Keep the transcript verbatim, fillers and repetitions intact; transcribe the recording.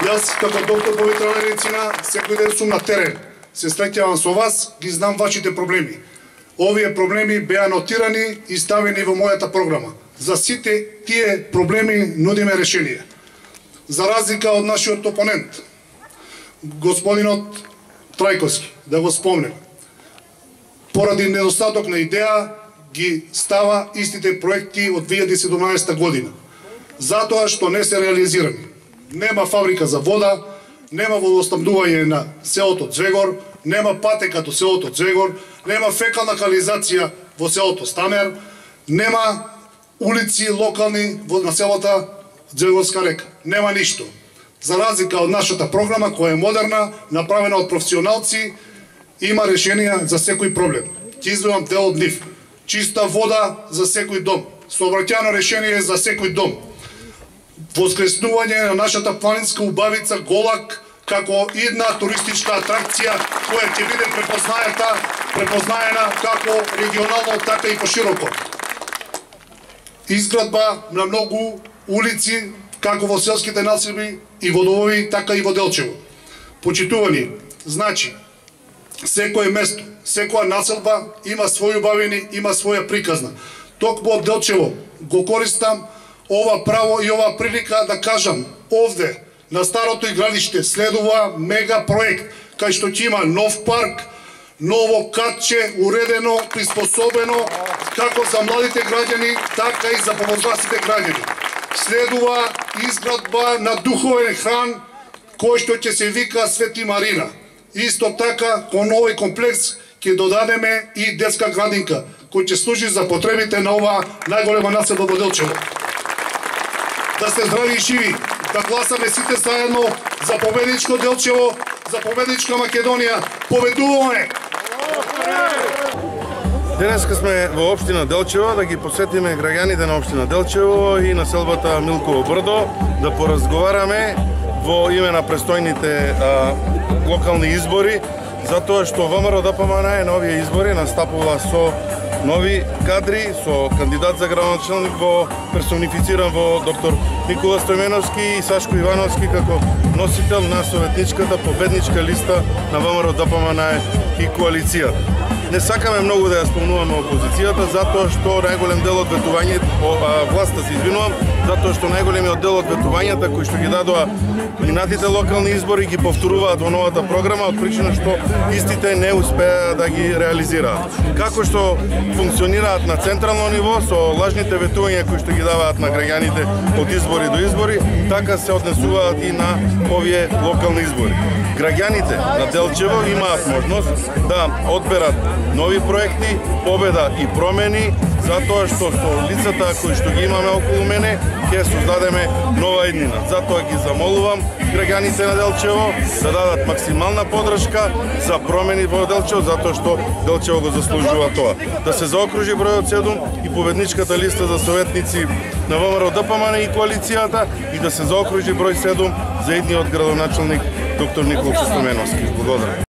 Јас како доктор по ветеринарна медицина секој ден сум на терен. Се среќавам со вас, ги знам вашите проблеми. Овие проблеми беа нотирани и ставени во мојата програма. За сите тие проблеми нудиме решение. За разлика од нашиот опонент, господинот Трајковски, да го спомнем, поради недостаток на идеја ги става истите проекти од две илјади и седумнаесета година. Затоа што не се реализирани. Нема фабрика за вода, нема водоснабдување на селото Звегор, нема патека до селото Звегор, нема фекална канализација во селото Станер, нема улици локални во населата Звегорска река. Нема ништо. За разлика од нашата програма која е модерна, направена од професионалци, има решенија за секој проблем. Ќе изведам дел од нив. Чиста вода за секој дом, сообраќајно решение за секој дом. Воскреснување на нашата планинска убавица Голак како една туристичка атракција која ќе биде препознаета, препознаена како регионално, така и пошироко. Изградба на многу улици како во селските населби и водовови, така и во Делчево. Почитувани, значи, секое место, секоја населба има своји убавини, има своја приказна. Токму од Делчево го користам ова право и ова прилика да кажам, овде, на старото игралиште, следува мега проект, кај што ќе има нов парк, ново катче, уредено, приспособено, како за младите граѓани, така и за повозрастните граѓани. Следува изградба на духовен храм, кој што ќе се вика Свети Марина. Исто така, кон овој комплекс ќе додадеме и детска градинка, кој ќе служи за потребите на ова најголема населба во Делчево. Да сте здрави и живи, да гласаме сите заедно за победничко Делчево, за победничка Македонија. Победуваме! Денеска сме во општина Делчево да ги посетиме граѓаните на општина Делчево и населбата Милково брдо, да поразговараме во име на престојните а, локални избори, затоа што ВМРО-ДПМН на овие избори настапува со нови кадри, со кандидат за градоначалник во персонифициран во доктор Никола Стојменовски и Сашко Ивановски како носител на советничката победничка листа на ВМРО-ДПМН и коалиција. Не сакаме многу да ја спомнуваме опозицијата, затоа што најголем дел од ветувањето, власта се извинувам, затоа што најголемиот дел од ветувањата кои што ги дадоа минатите локални избори ги повторуваат во новата програма, од причина што истите не успеа да ги реализираат. Како што функционираат на централно ниво со лажните ветувања кои што ги даваат на граѓаните од избори до избори, така се однесуваат и на овие локални избори. Граѓаните на Делчево имаат можност да одберат нови проекти, победа и промени, затоа што со лицата кои што ги имаме околу мене, ќе создадеме нова иднина. Затоа ги замолувам граѓаните на Делчево да дадат максимална поддршка за промени во Делчево, затоа што Делчево го заслужува тоа. Да се заокружи бројот седум и победничката листа за советници на ВМРО-ДПМН и коалицијата и да се заокружи број седум за идниот градоначалник доктор Никола Стојменовски. Благодарам.